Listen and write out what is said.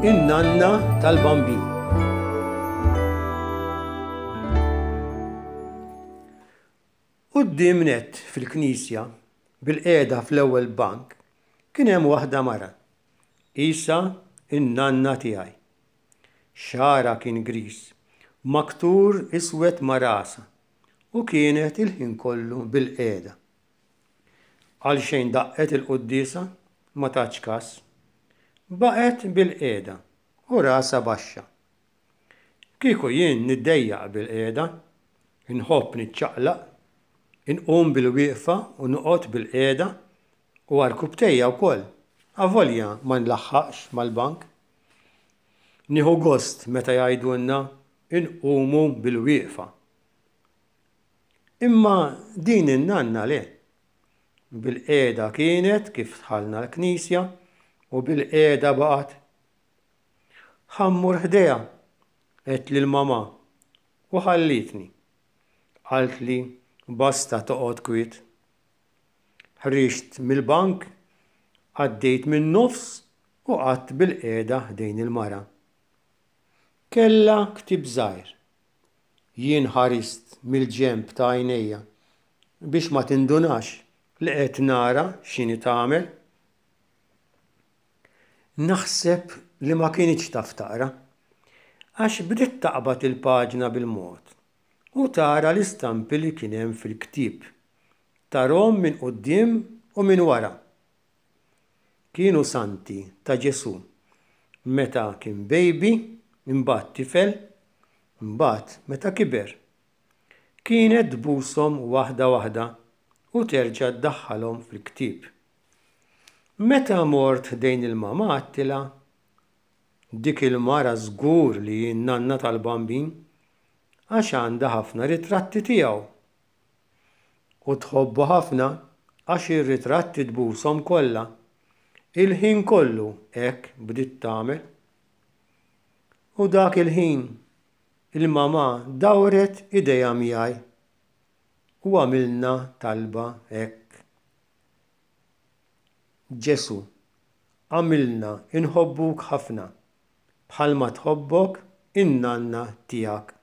In-nanna tal-Bambin. Quddiem nett fil-knisja, bilqiegħda fl-ewwel bank, kien hemm waħda mara, qisha n-nanna tiegħi. Xagħarha kien griż, maktur iswed ma' rasha u kienet il-ħin kollu bilqiegħda. Għalxejn daqqet il-quddiesa, ma tatx kas. Baqgħet bilqiegħda u rasha baxxa. Kieku jien niddejjaq bilqiegħda, inħobb niċċaqlaq, inqum bilwieqfa u noqgħod bilqiegħda u għarkupptejja wkoll, avolja ma nlaħħaqx mal-bank. Nieħu gost meta jgħidulna nqumu bilwieqfa. Imma din in-nanna le. Bilqiegħda kienet kif dħalna l-knisja u bilqiegħda baqgħet. Ħa mmur ħdejha, għedt lil mamà u ħallietni. Qaltli basta toqgħod kwiet. Ħriġt mill-bank, għaddejt min-nofs u qgħadt bilqiegħda ħdejn il-mara. Kellha ktieb żgħir. Jien ħarist mill-ġenb ta' għajnejja biex ma tindunax li qed nara x'inhi tagħmel. Naħseb li ma kinitx taf taqra, għax bdiet taqbad il-paġna bil-mod u tara l-istampi li kien hemm fil-ktieb, tarhom minn quddiem u minn wara. Kienu santi ta' Ġesù meta kien baby, imbagħad tifel, imbagħad meta kiber. Kienet tbushom waħda waħda u terġa' ddaħħalhom fil-ktieb. Meta mort ħdejn il-mama għedtilha, Dik il-mara żgur li hi n-nanna tal-Bambin għax għandha ħafna ritratti tiegħu. U tħobbu ħafna għax ir-ritratti tbushom kollha. Il-ħin kollu hekk bdiet tagħmel. U dak il-ħin il-mamà dawret idejha miegħi u għamilna talba hekk. Ġesù, agħmilna nħobbuk ħafna bħalma tħobbok in-nanna tiegħek.